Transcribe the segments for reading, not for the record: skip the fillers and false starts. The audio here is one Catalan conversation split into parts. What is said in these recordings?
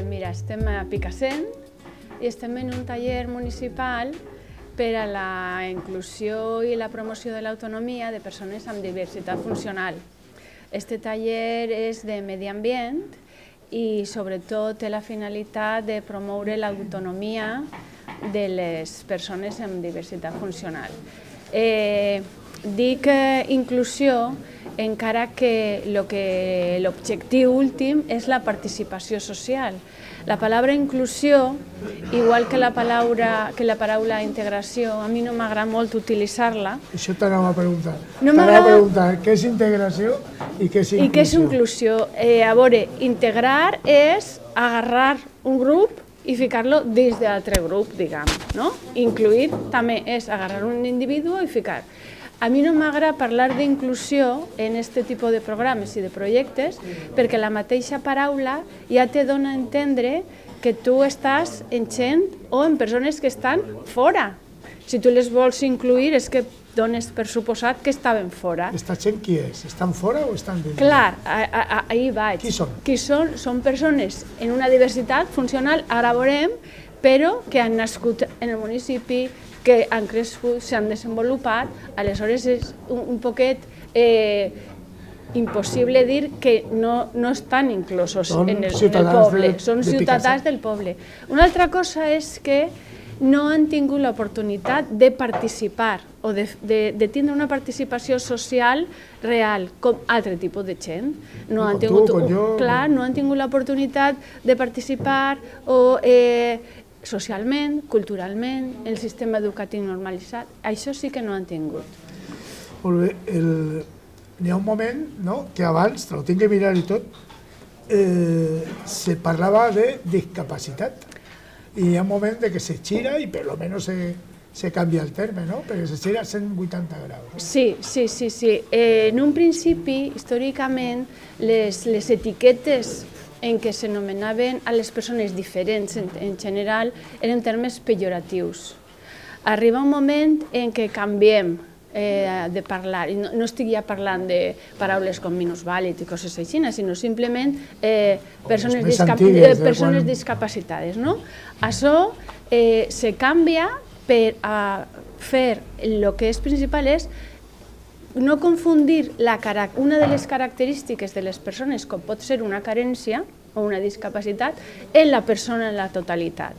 Mira, estem a Picassent i estem en un taller municipal per a la inclusió i la promoció de l'autonomia de persones amb diversitat funcional. Este taller és de medi ambient i sobretot té la finalitat de promoure l'autonomia de les persones amb diversitat funcional. Dic inclusió encara que l'objectiu últim és la participació social. La paraula inclusió, igual que la paraula integració, a mi no m'agrada molt utilitzar-la. Això t'anava a preguntar. T'anava a preguntar què és integració i què és inclusió. I què és inclusió? A veure, integrar és agarrar un grup i ficar-lo dins d'altre grup, diguem. Incluir també és agarrar un individu i ficar. A mi no m'agrada parlar d'inclusió en aquest tipus de programes i de projectes perquè la mateixa paraula ja te dona a entendre que tu estàs en gent o en persones que estan fora. Si tu les vols incluir és que dones per suposat que estaven fora. Aquesta gent qui és? Estan fora o estan dins? Clar, ahí vaig. Qui són? Qui són? Són persones en una diversitat funcional, ara veurem, però que han nascut en el municipi, que han crescut, s'han desenvolupat, aleshores és un poquet impossible dir que no estan inclosos en el poble, són ciutadans del poble. Una altra cosa és que no han tingut l'oportunitat de participar o de tindre una participació social real, com altre tipus de gent. No han tingut l'oportunitat de participar o socialment, culturalment, el sistema educatiu normalitzat, això sí que no han tingut. Molt bé, n'hi ha un moment que abans, te lo tinc que mirar i tot, se parlava de discapacitat i hi ha un moment que se gira i per lo menos se canvia el terme, perquè se gira a 180 graus. Sí. En un principi, històricament, les etiquetes en què s'anomenaven a les persones diferents en general eren termes pejoratius. Arriba un moment en què canviem de parlar, i no estic ja parlant de paraules com minusvàlid i coses així, sinó simplement persones discapacitades. Això se canvia per fer el que és principal és no confundir una de les característiques de les persones, com pot ser una carència o una discapacitat, en la persona en la totalitat,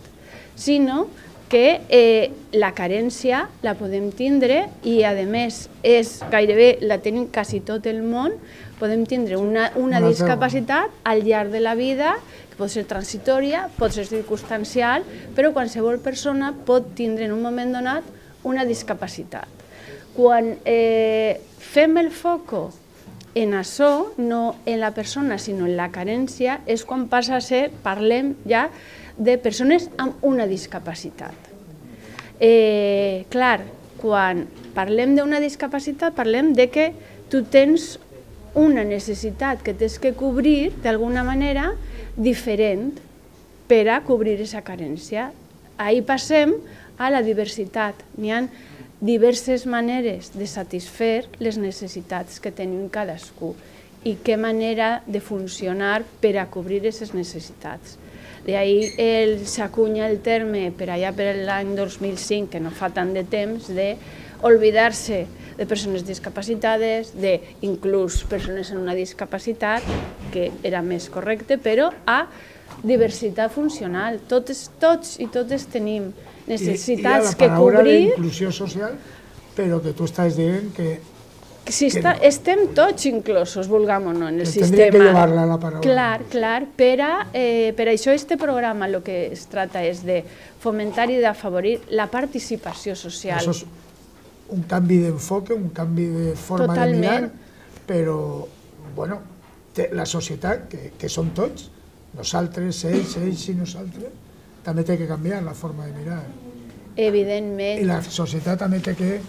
sinó que la carència la podem tindre i, a més, gairebé la tenim quasi tot el món, podem tindre una discapacitat al llarg de la vida, que pot ser transitòria, pot ser circumstancial, però qualsevol persona pot tindre en un moment donat una discapacitat. Quan fem el foco en això, no en la persona, sinó en la carència, és quan passa a ser, parlem ja de persones amb una discapacitat. Clar, quan parlem d'una discapacitat, parlem de que tu tens una necessitat que tens que cobrir d'alguna manera diferent per a cobrir aquesta carència. Ahir passem a la diversitat. N'hi ha diverses maneres de satisfer les necessitats que tenim cadascú i què manera de funcionar per a cobrir aquestes necessitats. D'ahir s'acunya el terme per allà per l'any 2005, que no fa tant de temps, d'oblidar-se de persones discapacitades, d'inclús persones amb una discapacitat, que era més correcte, però a diversitat funcional. Tots i totes tenim necessitats que cobrir. I la paraula d'inclusió social, però que tu estàs dient que Si estem tots inclosos, vulguem o no, en el sistema. Tendria que llevar-la la paraula. Clar, per això este programa el que es trata és de fomentar i d'afavorir la participació social. Això és un canvi d'enfoque, un canvi de forma de mirar, però, bueno, la societat, que som tots, nosaltres, ells i nosaltres, també té que canviar la forma de mirar. Evidentment. I la societat també té que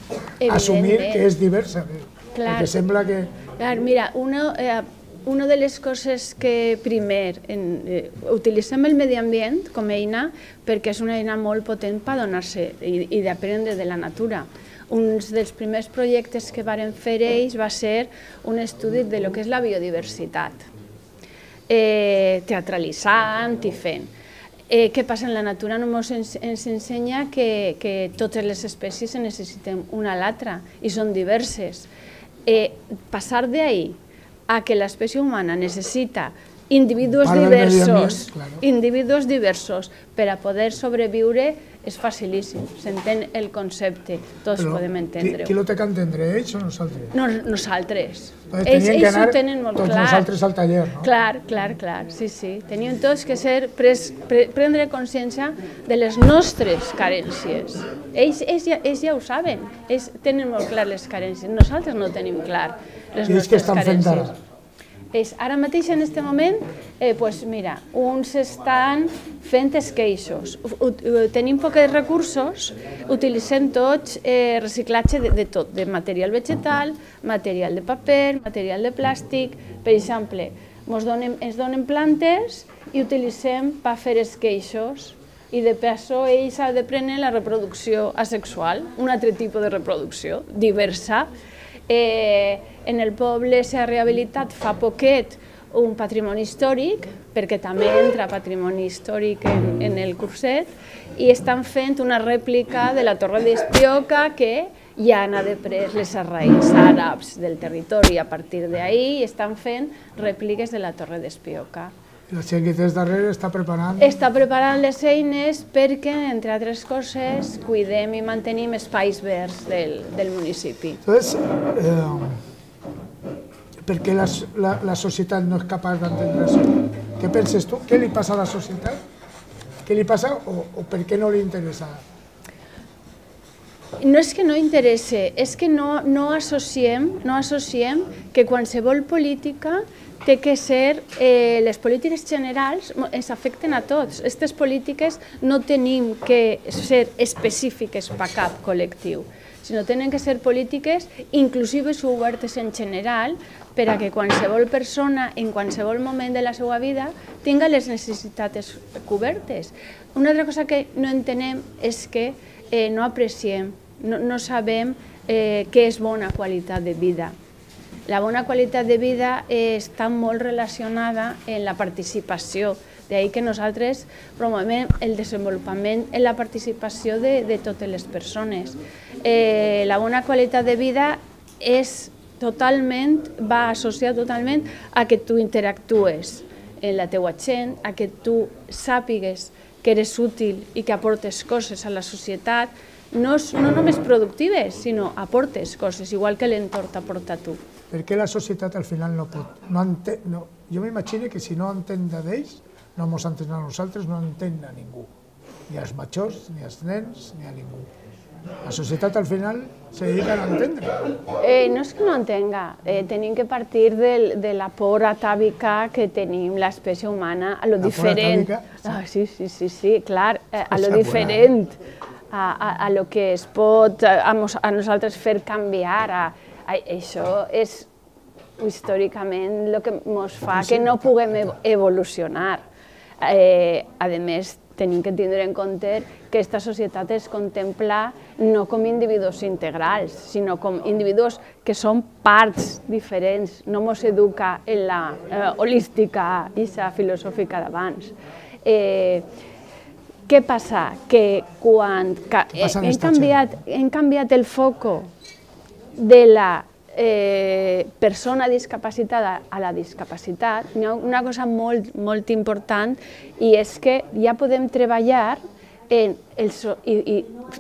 assumir que és diversa, perquè sembla que... Mira, una de les coses que primer utilitzem el medi ambient com a eina perquè és una eina molt potent per donar-se i d'aprendre de la natura. Un dels primers projectes que varen fer ells va ser un estudi de lo que és la biodiversitat, teatralitzant i fent. Què passa en la natura? Ens ensenya que totes les espècies necessiten una a l'altra i són diverses. Passar d'ahí a que l'espècie humana necessita individus diversos per a poder sobreviure és facilíssim, s'entén el concepte, tots podem entendre-ho. Qui ho té que entendre, ells o nosaltres? Nosaltres. Ells ho tenen molt clar. Tots nosaltres al taller, no? Clar, sí. Tenim tots que prendre consciència de les nostres carències. Ells ja ho saben, ells tenen molt clar les carències, nosaltres no tenim clar les nostres carències. Ara mateix, en aquest moment, mira, uns estan fent esqueixos. Tenim pocs recursos, utilitzem tots reciclatge de tot, de material vegetal, material de paper, material de plàstic. Per exemple, ens donen plantes i utilitzem per fer esqueixos i de passo ells han de prendre la reproducció asexual, un altre tipus de reproducció diversa. En el poble s'ha rehabilitat fa poquet un patrimoni històric, perquè també entra patrimoni històric en el curset, i estan fent una rèplica de la Torre d'Espioca que ja han pres les arraïts àrabs del territori a partir d'ahir i estan fent rèpliques de la Torre d'Espioca. La gent que tens darrere està preparant... Està preparant les eines perquè, entre altres coses, cuidem i mantenim espais verds del municipi. Entonces, ¿per qué la societat no és capaç d'entendre això? Què penses tu? Què li passa a la societat? Què li passa o per què no li interessa? No és que no interessa, és que no associem que qualsevol política té que ser, les polítiques generals ens afecten a tots. Aquestes polítiques no tenim que ser específiques per cap col·lectiu, sinó tenen que ser polítiques inclusives i obertes en general per a que qualsevol persona en qualsevol moment de la seva vida tinga les necessitats cobertes. Una altra cosa que no entenem és que no apreciem, no sabem què és bona qualitat de vida. La bona qualitat de vida està molt relacionada amb la participació, d'ahir que nosaltres promovem el desenvolupament en la participació de totes les persones. La bona qualitat de vida va associada totalment a que tu interactues amb la teua gent, a que tu sàpigues que eres útil i que aportes coses a la societat, no només productives, sinó aportes coses, igual que l'entorn t'aporta a tu. Per què la societat al final no pot? Jo m'imagino que si no entén d'ells, no ens entén a nosaltres, no entén a ningú. Ni als majors, ni als nens, ni a ningú. La societat al final se dedica a entendre. No és que no entenga, tenim que partir de la por atàvica que tenim l'espècie humana a lo diferent. Sí, clar, a lo diferent, a lo que es pot a nosaltres fer canviar. Això és històricament el que ens fa que no puguem evolucionar. A més, tenim que tindre en compte que aquesta societat es contempla no com individus integrals, sinó com individus que són parts diferents. No ens educa en la holística i la filosòfica d'abans. Què passa? Que quan hem canviat el foco de la persona discapacitada a la discapacitat, hi ha una cosa molt important i és que ja podem treballar i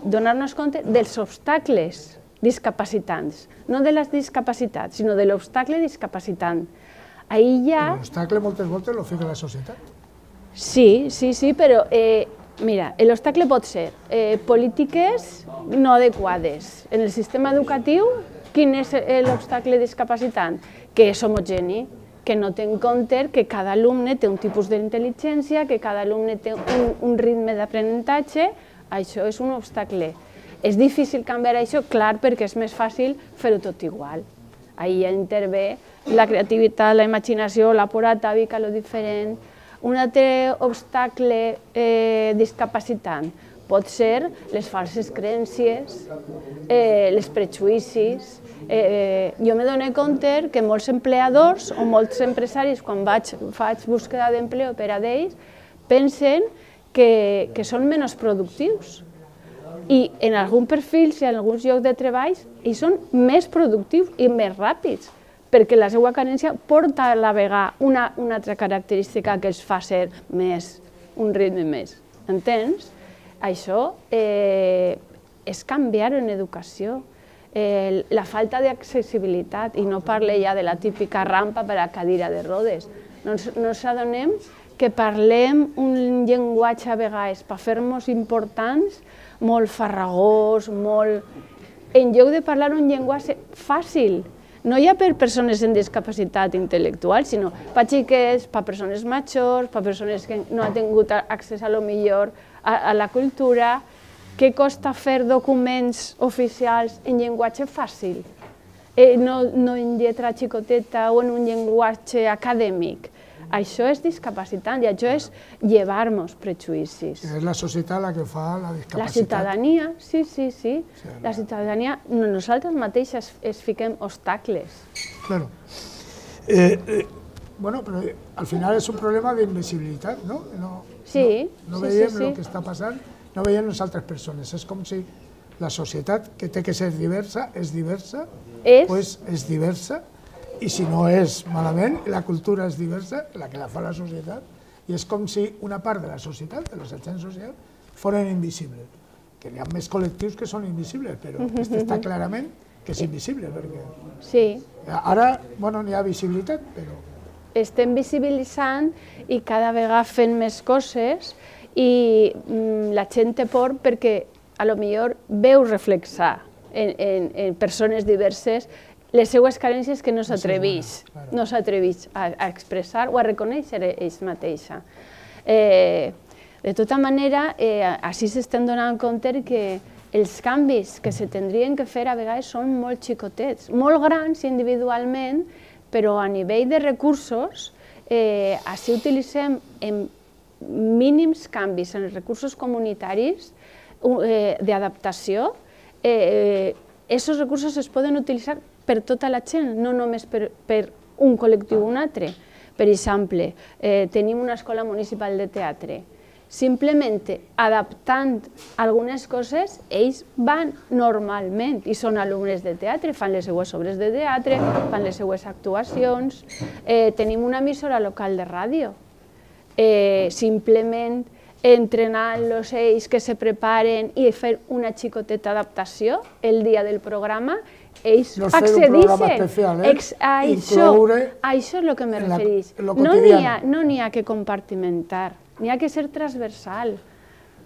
donar-nos compte dels obstacles discapacitants, no de les discapacitats, sinó de l'obstacle discapacitant. Ahí ja... L'obstacle moltes voltes lo fica la societat. Sí, però mira, l'obstacle pot ser polítiques no adequades. En el sistema educatiu, quin és l'obstacle discapacitant? Que és homogeni, que no té en compte que cada alumne té un tipus d'intel·ligència, que cada alumne té un ritme d'aprenentatge, això és un obstacle. És difícil canviar això, clar, perquè és més fàcil fer-ho tot igual. Ahí ja intervé la creativitat, la imaginació, la por atàvica, lo diferent. Un altre obstacle discapacitant pot ser les falses creences, els prejudicis. Jo me dono compte que molts empleadors o molts empresaris, quan faig búsqueda d'empleo per a ells, pensen que són menys productius. I en alguns perfils i en alguns llocs de treball ells són més productius i més ràpids, perquè la seva carència porta a la vegada una altra característica que els fa ser més, un ritme més. Entens? Això és canviar en educació. La falta d'accessibilitat, i no parle ja de la típica rampa per a cadira de rodes. No ens adonem que parlem un llenguatge a vegades per fer-nos importants, molt farragós, molt... En lloc de parlar un llenguatge fàcil, no ja per persones amb discapacitat intel·lectual, sinó per xiquets, per persones majors, per persones que no han tingut accés a lo millor a la cultura. Què costa fer documents oficials en llenguatge fàcil? No en lletra xicoteta o en un llenguatge acadèmic. Això és discapacitant i això és llevar-nos prejudicis. És la societat la que fa la discapacitat. La ciutadania, sí. La ciutadania, nosaltres mateixes es fiquem obstacles. Claro. Bueno, però al final és un problema d'invisibilitat, no? Sí. No veiem el que està passant, no veiem les altres persones. És com si la societat, que té que ser diversa, és diversa, doncs és diversa, i si no és malament, la cultura és diversa, la que la fa la societat, i és com si una part de la societat, de els agents socials, foren invisibles. Que hi ha més col·lectius que són invisibles, però aquest està clarament que és invisible, perquè... Sí. Ara, bueno, n'hi ha visibilitat, però... Estem visibilitzant i cada vegada fent més coses i la gent té por perquè a lo millor veu reflexar en persones diverses les seues carències que no s'atreveix a expressar o a reconèixer ells mateixa. De tota manera, així s'estem donant compte que els canvis que se tindrien que fer a vegades són molt xicotets, molt grans individualment, però a nivell de recursos, així utilitzem en mínims canvis en els recursos comunitaris d'adaptació. Aquests recursos es poden utilitzar per tota la gent, no només per un col·lectiu o un altre. Per exemple, tenim una escola municipal de teatre. Simplement adaptant algunes coses, ells van normalment i són alumnes de teatre, fan les seues obres de teatre, fan les seues actuacions. Tenim una emissora local de ràdio. Simplement entrenant-los ells que se preparen i fer una xicoteta adaptació el dia del programa, ells accedeixen. Això és el que me refereix. No n'hi ha que compartimentar, n'hi ha que ser transversal.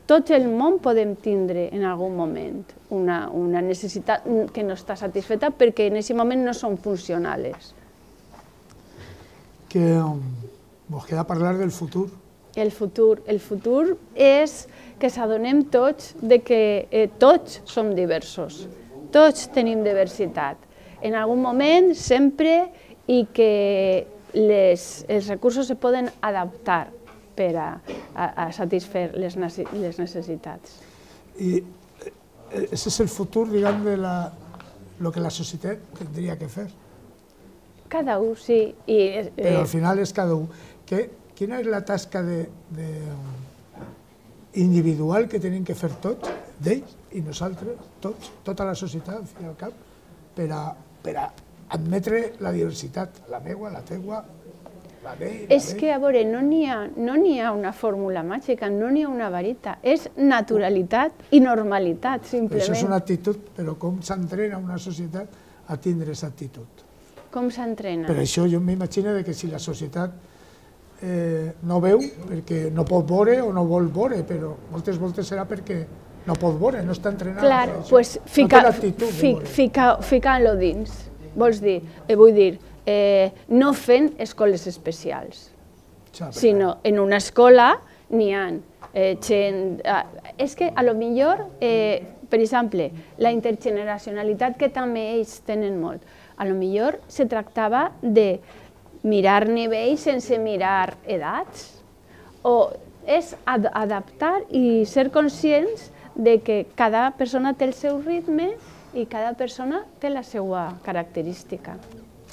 Tot el món podem tindre en algun moment una necessitat que no està satisfeta perquè en aquest moment no són funcionals. Ens queda parlar del futur. El futur és que s'adonem tots que tots som diversos, tots tenim diversitat. En algun moment, sempre, i que els recursos se poden adaptar per a satisfer les necessitats. I aquest és el futur, diguem, de lo que la societat tindria que fer. Cada un, sí. Però al final és cada un. Quina és la tasca individual que tenim que fer tots, d'ells i nosaltres, tots, tota la societat, al fin i al cap, per a admetre la diversitat, la meua, la teua, És que, a veure, no n'hi ha una fórmula màgica, no n'hi ha una varita, és naturalitat i normalitat, simplement. Això és una actitud, però com s'entrena una societat a tindre aquesta actitud? Com s'entrena? Per això jo m'imagino que si la societat no veu, perquè no pot veure o no vol veure, però moltes voltes serà perquè no pot veure, no està entrenat. Clar, doncs ficant-lo dins. Vols dir, vull dir, no fent escoles especials, sinó en una escola n'hi ha gent... És que, a lo millor, per exemple, la intergeneracionalitat que també ells tenen molt, a lo millor se tractava de mirar nivells sense mirar edats, o és adaptar i ser conscients de que cada persona té el seu ritme i cada persona té la seva característica.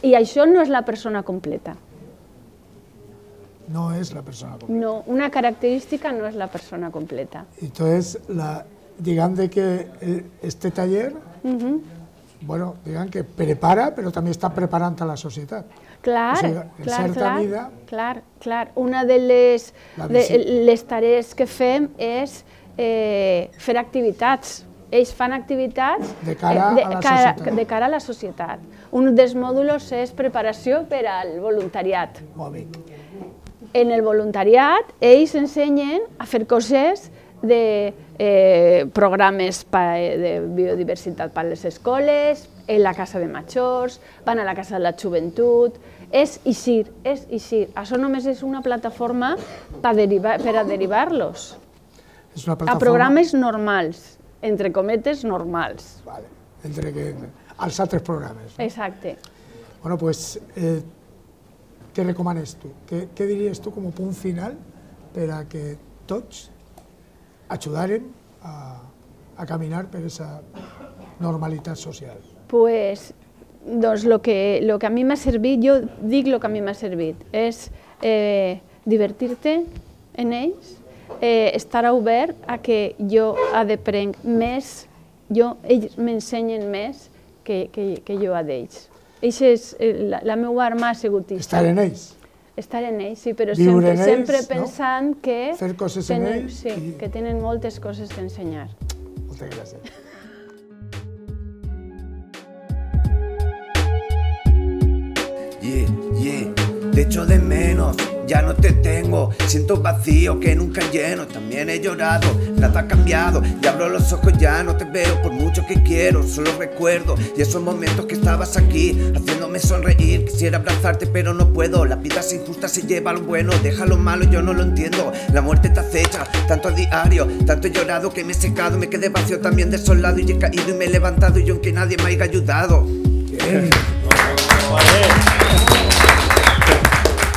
I això no és la persona completa. No és la persona completa. No, una característica no és la persona completa. Entonces, digamos que este taller, bueno, digan que prepara, però també està preparant a la societat. Clar, clar. Una de les tarees que fem és fer activitats. Ells fan activitats de cara a la societat. Un dels mòduls és preparació per al voluntariat. En el voluntariat, ells ensenyen a fer coses de programes de biodiversitat per a les escoles, en la casa de majors, van a la casa de la joventut. És eixir, és eixir. Això només és una plataforma per a derivar-los a programes normals, entre cometes normals. Vale, entre els altres programes. Exacte. Bueno, pues, què recomanes tu? Què diries tu com a punt final per a que tots ajudarem a caminar per aquesta normalitat social? Pues, doncs, el que a mi m'ha servit, jo dic el que a mi m'ha servit, és divertir-te en ells, estar obert a que jo aprenc més, ells m'ensenyen més que jo a d'ells. La meva arma ha sigut això. Estar en ells? Estar en ells, sí, però sempre pensant que fer coses en ells, que tenen moltes coses que ensenyar. Moltes gràcies. Te echo de menos, ya no te tengo. Siento vacío que nunca lleno. También he llorado, nada ha cambiado. Y abro los ojos, ya no te veo. Por mucho que quiero, solo recuerdo. Y esos momentos que estabas aquí, haciéndome sonreír. Quisiera abrazarte pero no puedo. La vida es injusta, se lleva lo bueno. Deja lo malo, yo no lo entiendo. La muerte te acecha, tanto a diario. Tanto he llorado que me he secado. Me quedé vacío también desolado. Y he caído y me he levantado. Y aunque nadie me haya ayudado.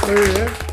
Muy bien.